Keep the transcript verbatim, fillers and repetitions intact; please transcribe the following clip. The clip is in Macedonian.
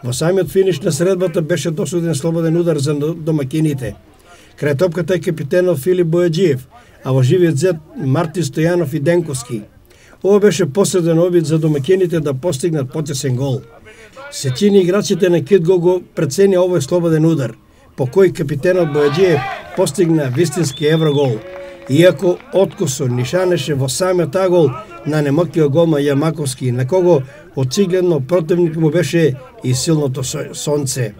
Во самиот финиш на средбата беше досуден слободен удар за домакините. Крај топката е капитенот Филип Бојаджиев, а во живиот зет Мартин Стојанов и Денковски. Ова беше последен обид за домакините да постигнат потесен гол. Сечини играчите на Кидго го прецени овој слободен удар, по кој капитенот Бојаджиев постигна вистински еврогол, иако откусо нишанеше во самиот агол на немокиот голман Јамаковски, на кого очигледно противник му беше и силното сонце.